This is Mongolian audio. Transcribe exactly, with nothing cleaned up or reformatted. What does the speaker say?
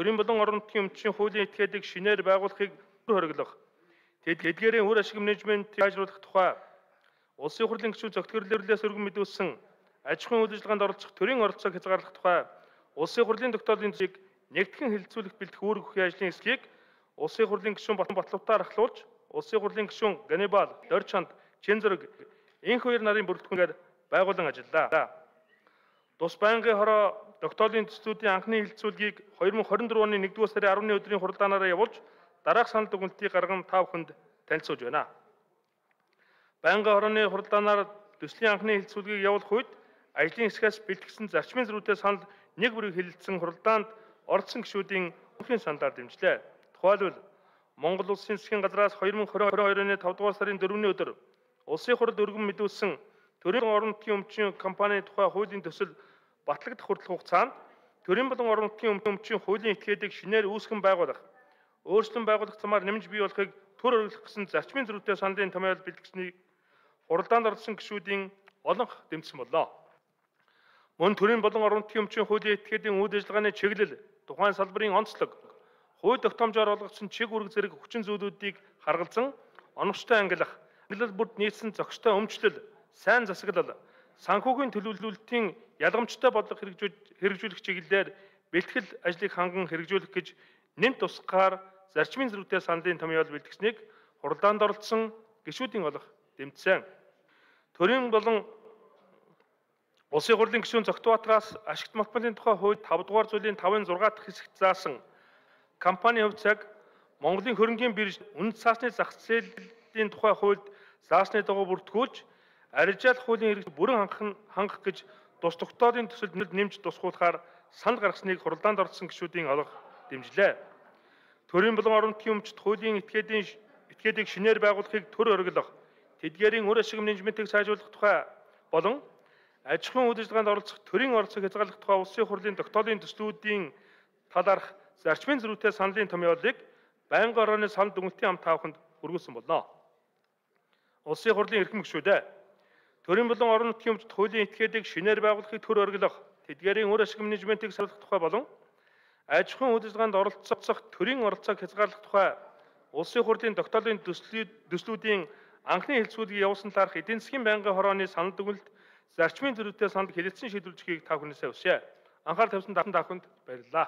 төрийн болон орон нутгийн өмчийн хуулийн этгээдийг шинээр байгуулахыг хориглох, тэдгээрийн үр ашиг менежментийг сайжруулах тухай улсын хурлын гишүүн зөвтгөрлөлөөс өргөн мэдүүлсэн аж ахуйн үйл ажиллагаанд оролцох төрийн оролцоог хязгаарлах тухай улсын хурлын тогтоолын төсвийг нэгтгэн хэлэлцүүлэх бэлтгэх үүрэг бүхий ажлын эсхийг улсын хурлын гишүүн Батлавтаар ахлуулж, улсын хурлын гишүүн Ганнибал, Дорчанд, Чинзүрэг энх хоёр нарын бүрэлдэхүүнээр байгуулан ажиллаа. Тус байнгын хороо тогтоолын төслүүдийн анхны хэлэлцүүлгийг хоёр мың хорин дөрвөн оны нэгдүгээр сарын арваны өдрийн хуралдаанаараа явуулж, дараах санал дүгнэлтийг гарган та бүхэнд танилцуулж байна. Байнгын хорооны хуралдаанаар төслийн анхны хэлэлцүүлгийг явуулах үед ажлын хэсгээс бэлтгэсэн зарчмын зөрүүтэй санал нэг бүрийг хэлэлцсэн хуралдаанд оролцсон гишүүдийн өмнөхийн саналаар дэмжлээ. Тухайлбал Монгол Улсын засгийн газраас хоёр мың хорин хоёр оны тавд дугаар сарын дөрөвний өдөр улсын хурд өргөн мэдүүлсэн төрийн орон нутгийн өмчийн компанийн тухай хуулийн төсөл батлагдах хүртэлх хугацаанд төрийн болон орон нутгийн өмчийн хуулийн этгээдийг шинээр үүсгэн байгуулах, өөрчлөн байгуулах замаар нэмж бий болохыг төр өргөх гэсэн зарчмын зөрүүтэй саналын томьёол бэлтгэснийг хуралдаанд оролцсон гишүүдийн олонх дэмжсэн боллоо. Мөн төрийн болон орон нутгийн өмчийн хуулийн этгээдийн үйл ажиллагааны чиглэл, тухайн салбарын онцлог, хууль тогтоомжоор олгогдсон чиг үүрэг зэрэг хүчин зүйлүүдийг харгалзан оновчтой ангилах, ангилал бүрд нийцсэн зохистой өмчлөл, сайн засаглал, санхүүгийн төлөвлөлтийн ялгамжтай бодлого хэрэгжүүлэх чиглэлээр бэлтгэл ажлыг ханган хэрэгжүүлэх гэж нэмт тусгаар зарчмын зөрүүтэй саналын томьёол бэлтгэснийг хуралдаанд оролцсон гишүүдийн олох дэмжсэн. Төрийн болон улсын хурлын гишүүн Зогтбаатараас ашигт малбарын тухай хууль тавд дугаар зүйлийн тавын зургаа дахь хэсэгт заасан компанийн хувь цаг Монголын хөрөнгийн бирж үнэт цаасны зах зээлийн тухай хуульд заасны дагуу бүртгүүлж, арилжаалах хуулийн хэрэгцээг бүрэн хангах гэж тус тогтоолын төсөлд нэмж тусгуулахаар санал гаргасныг хуралдаанд оролцсон гишүүдийн олох дэмжлээ. Төрийн болон орон нутгийн өмчт хуулийн этгээдийн этгээдийг шинээр байгуулахыг төр оргилох, тэдгээрийн үр ашиг менежментийг сайжруулах тухай болон аж ахуйн үйл ажиллагаанд оролцох төрийн оролцоог хязгаарлах тухай улсын хурлын тогтоолын төслүүдийн талаарх зарчмын зөрүүтэй саналын томьёолыг байнгын орооны санал дүгнэлтийн хамт тааваханд хүргүүлсэн болно. Улсын хурлын эрхэм гишүүдээ төрийн болон орон нутгийн өмчт хуулийн этгээдийг шинээр байгуулахыг төр оргилох, тэдгээрийн үр ашиг менежментийг сайжруулах тухай болон аж ахуйн үйл ажиллагаанд оролцох төрийн оролцоог хязгаарлах тухай улсын хурлын тогтоолын төслүүдийн анхны хэлэлцүүлгийг явуулсан талаарх эдийн засгийн байнгын хорооны санал дүгнэлт зарчмын зөрүүтэй санал хэлэлцэн шийдвэрлэхийг та бүхнээсээ хүсье. Анхаарал тавьсан та бүхэнд баярлалаа.